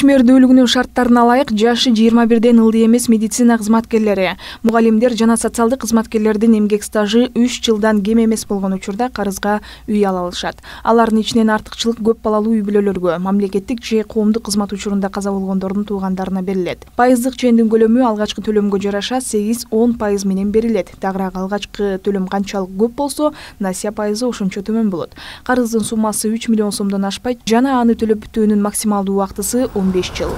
Ишмердүүлүгүнүн шарттарына ылайык жашы 21ден ылдый эмес медицина кызматкерлери, мугалимдер жана социалдык кызматкерлердин эмгек стажы 3 жылдан кем эмес болгон учурда карызга үй ала алышат. Алардын ичинен артыкчылык көп балалуу үй бүлөлөргө, мамлекеттик же коомдук кызмат учурунда каза болгондордун туугандарына берилет. Пайыздык чендин көлөмү алгачкы төлөмгө жараша 8-10% менен берилет. Дагыраак алгачкы төлөм канчалык көп болсо, насыя пайызы ошончо төмөн болот. Карыздын суммасы 3 миллион сомдон ашпайт жана аны төлөп бүтүүнүн максималдуу убактысы 15 жыл.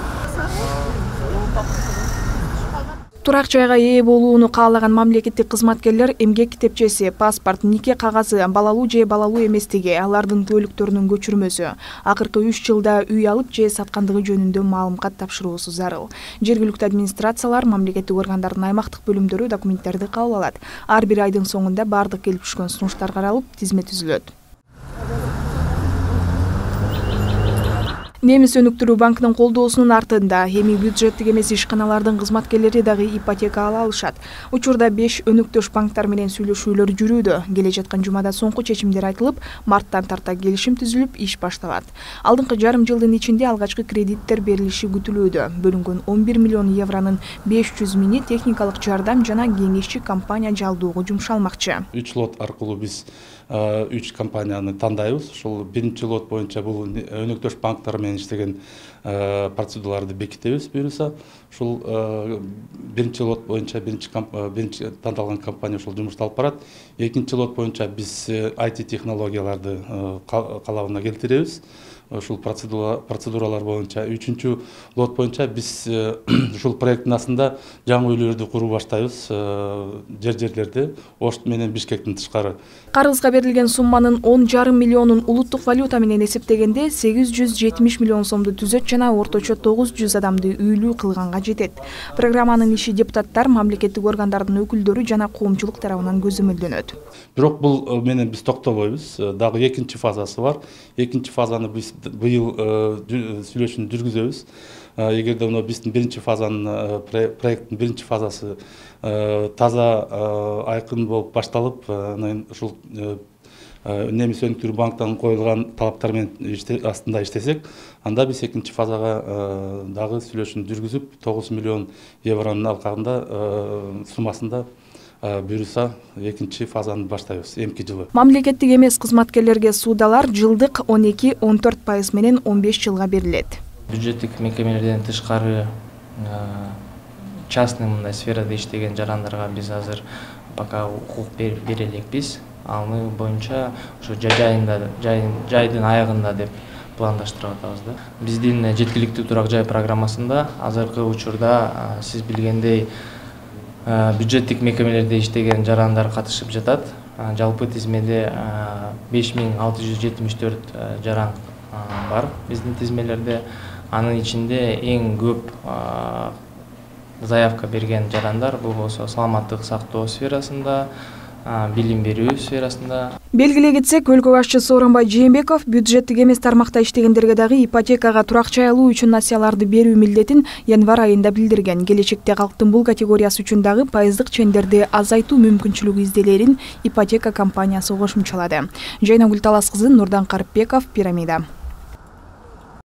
Турак жайга ээ болууну каалаган мамлекеттик кызматкерлер эмгек китепчеси, паспорт, нике кагазы, балалуу же балалуу эместиги, алардын куөлүктөрүнүн көчүрмөсү, акыркы 3 жылда үй алып же саткандыгы жөнүндө маалымат тапшыруусу зарыл. Жергиликтүү администрациялар, мамлекеттик органдардын аймактык бөлүмдөрү документтерди кабыл алат. Ар бир айдын соңунда бардык келип түшкөн сунуштар каралып, тизме түзүлөт. Немис өнүктүрүү банкынын колдоосунун артында эми бюджеттик эмес ишканалардын кызматкерлери дагы ипотека ала алышат. Учурда 5 өнүктөш банктар менен сүйлөшүүлөр жүрүүдө. Келе жаткан жумада соңку чечимдер айтылып, марттан тарта келишим түзүлүп, иш башталат. Алдыңкы жарым жылдын ичинде алгачкы кредиттер берилиши күтүлүүдө. Бөлүнгөн 11 миллион евронун 500 миңи техникалык жардам жана кеңешчи компания жалдоого жумшалмакчы. 3 лот аркылуу биз 3 компанияны тандайбыз. Ушул биринчи лот боюнча бул өнүктөш банктар менен иштеген процедураларды бекитебиз буюрса. Ушул биринчи лот боюнча биринчи тандалган компания ушул жумушталып барат. Экинчи лот боюнча биз IT технологияларды калабына келтиребиз. Ушул процедуралар боюнча. Үчүнчү лот боюнча биз ушул проекттин астында жаңы үйлөрдү куруу баштайбыз. Жерлерде Ош менен Бишкектин тышкары. Карызга берилген сумманын 10,5 миллионун улуттук валюта менен эсептегенде 870 миллион сомду түзөт жана орточо 900 адамды үйлүү кылганга жетет. Программанын иши депутаттар, мамлекеттик органдардын өкүлдөрү жана коомчулук тарабынан көзөмөлдөнөт. Бирок бул менен биз токтобойбуз. Дагы экинчи фазасы бар. Экинчи фазаны биз быйыл сүйлөшүүнү жүргүзөбүз. Эгерде биздин биринчи фазанын проекттин биринчи фазасы таза айкын болуп башталып, ушул Немис өнүктүрүү банктан коюлган талаптар менен астында иштесек, анда биз экинчи фазага дагы сүйлөшүүнү жүргүзүп, 9 миллион евронун алкагында суммасында буюрса экинчи фазаны баштайбыз эмки жылы. Мамлекеттик эмес кызматкерлерге суудалар жылдык 12-14% менен 15 жылга берилет. Бюджеттик мекемелерден тышкары частный мындай сферада иштеген жарандарга биз азыр пока укук бере элекпиз. Аны боюнча ошо жайдын аягында деп пландаштырып атабыз да. Биздин жеткиликтүү турак жай программасында азыркы учурда сиз билгендей бюджеттик мекемелерде иштеген жарандар катышып жатат. Жалпы тизмеде 5674 жаран бар биздин тизмелерде. Анын ичинде эң көп заявка берген жарандар бул болсо саламаттык сактоо сферасында, билим берүү сферасында. Белгилей кетсек, өлкө башчысы Сооронбай Жээнбеков бюджеттик эмес тармакта иштегендерге дагы ипотекага турак жай алуу үчүн насыяларды берүү милдетин январь айында билдирген. Келечекте калктын бул категориясы үчүн дагы пайыздык чендерди азайтуу мүмкүнчүлүгү изделерин ипотека компаниясы кошумчалады. Жайнагүл Талас кызы, Нурдан Карыпбеков, Пирамида.